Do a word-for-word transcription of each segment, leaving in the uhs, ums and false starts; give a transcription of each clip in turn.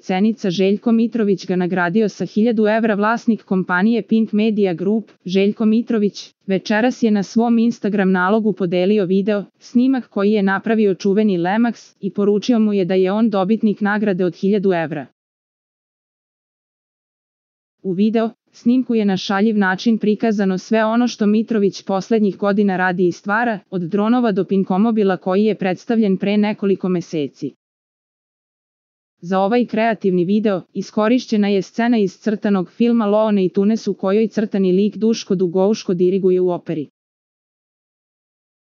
Cenica Željko Mitrović ga nagradio sa hiljadu evra. Vlasnik kompanije Pink Media Group, Željko Mitrović, večeras je na svom Instagram nalogu podelio video, snimak koji je napravio čuveni Lemax i poručio mu je da je on dobitnik nagrade od hiljadu evra. U video snimku je na šaljiv način prikazano sve ono što Mitrović poslednjih godina radi i stvara, od dronova do pinkomobila koji je predstavljen pre nekoliko meseci. Za ovaj kreativni video iskorišćena je scena iz crtanog filma Loone i Tunes u kojoj crtani lik Duško Dugouško diriguje u operi.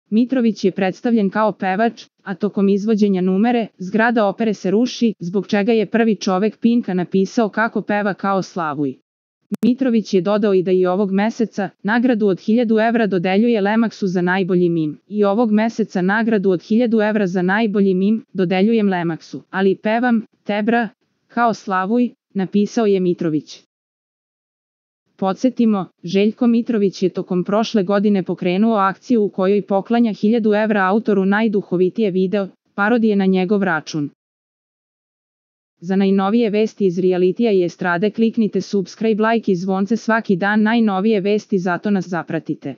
Mitrović je predstavljen kao pevač, a tokom izvođenja numere, zgrada opere se ruši, zbog čega je prvi čovek Pinka napisao kako peva kao Slavuj. Mitrović je dodao i da i ovog meseca nagradu od hiljadu evra dodeljuje Lemaxu za najbolji mim. I ovog meseca nagradu od hiljadu evra za najbolji mim dodeljujem Lemaxu, ali pevam, tebra, kao Slavuj, napisao je Mitrović. Podsjetimo, Željko Mitrović je tokom prošle godine pokrenuo akciju u kojoj poklanja hiljadu evra autoru najduhovitije video parodije na njegov račun. Za najnovije vesti iz realitija i estrade kliknite subscribe, like i zvonce svaki dan. Najnovije vesti, zato nas zapratite.